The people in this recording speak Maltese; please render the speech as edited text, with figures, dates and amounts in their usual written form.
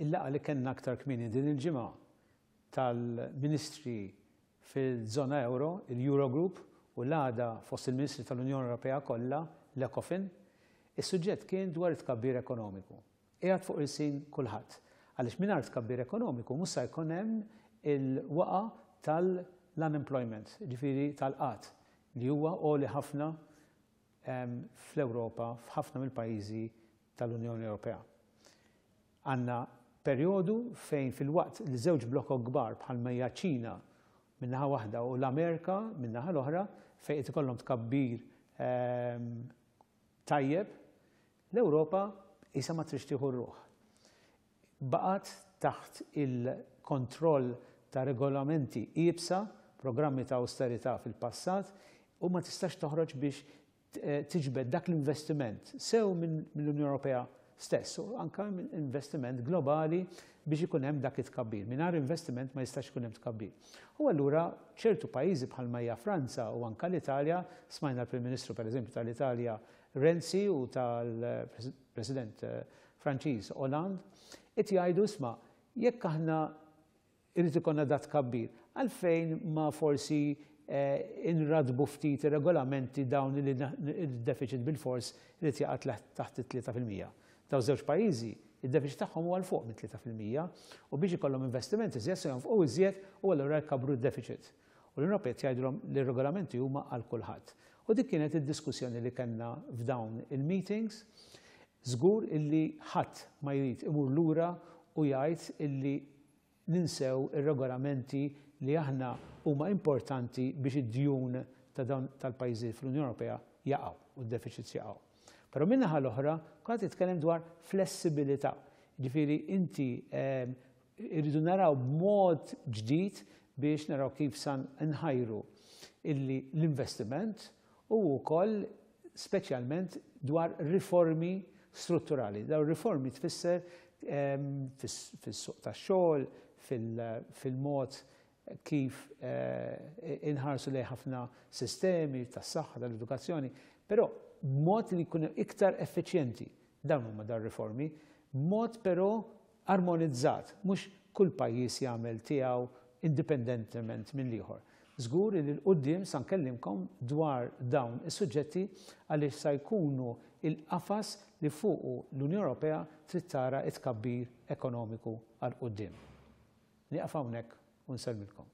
Il-laqgħa li kellna aktar kmieni din il-ġimgħa tal-Ministri fil-żona ewro, il-Eurogroup, u l-għada fost il-Ministri tal-Unjoni Ewropea kollha, l-Ecofin, is-suġġett kien dwar it-tkabbir ekonomiku. Qiegħed fuq ilsien kulħadd. Għaliex mingħajr tkabbir ekonomiku mhux sa jkun hemm il-waqgħa tal-unemployment, jiġifieri tal-qgħad, li huwa għoli ħafna fl-Ewropa, f'ħafna mill-pajjiżi tal-Unjoni Ewropea. Għandna perjodu fejn filwaqt li żewġ blokok kbar bħalma hija ċ-Ċina minn naħa waħda u l-Amerika minn naħa l-oħra fejn qed ikollhom tkabbir tajjeb, l-Ewropa qisha ma tridx tieħu r-ruħ. Baqgħet taħt il-kontroll ta' regolamenti iebsa, programmi ta' awsterità fil-passat u ma tistax toħroġ biex tiġbed dak l-investiment sew mill-Unjoni Ewropea stess u anke minn investiment globali biex ikun hemm dak it-tkabbir. Mingħajr investiment ma jistax ikun hemm tkabbir. U allura ċertu pajjiżi bħalma hija Franza u anke l-Italja, smajna l-Prim Ministru pereżempju tal-Italja Renzi u tal-President Franċiż Hollande, qed jgħidu isma' jekk aħna Irid ikollna dat tkabbir. Għalfejn ma forsi inraddbu ftit ir-regolamenti dawn li d-deficit bilfors irid jaqa' taħt it-3%. Dawn żewġ pajjiżi, id-deficit tagħhom huwa 'l fuq mit-3% u biex ikollhom investiment iżjed se jonfqu iżjed u allura jkabbru d-deficit. U l-Unjoni Ewropea qed jgħidulhom li r-regolamenti huma għal kulħadd. U dik kienet id-diskussjoni li kellna f'dawn il-meetings. Żgur illi ħadd ma jrid imur lura u jgħid illi ninsew ir-regolamenti li aħna huma importanti biex id-djun ta' dawn tal-pajjiżi fl-Unjoni Ewropea jaqgħu u d-deficits jaqgħu. Però min-naħa l-oħra kulħadd jitkellem dwar flessibilità. Jiġifieri inti irridu naraw b'mod ġdid biex naraw kif sa nħajru illi l-investiment u wkoll speċjalment dwar riformi strutturali. Dawn riformi tfisser fis-suq tax-xogħol, fil-mod kif inħarsu lejn ħafna sistemi tas-saħħa, tal-edukazzjoni, però b'mod li jkunu iktar effiċjenti. Dawn huma dawn riformi, b'mod però armonizzat, mhux kull pajjiż jagħmel tiegħu indipendentement mill-ieħor. Żgur li 'l quddiem sa nkellimkom dwar dawn is-suġġetti għaliex sa jkunu l-qafas li fuqu l-Unjoni Ewropea trid tara t-tkabbir ekonomiku għal quddiem. Nieqaf hawnhekk u nsellmilkom.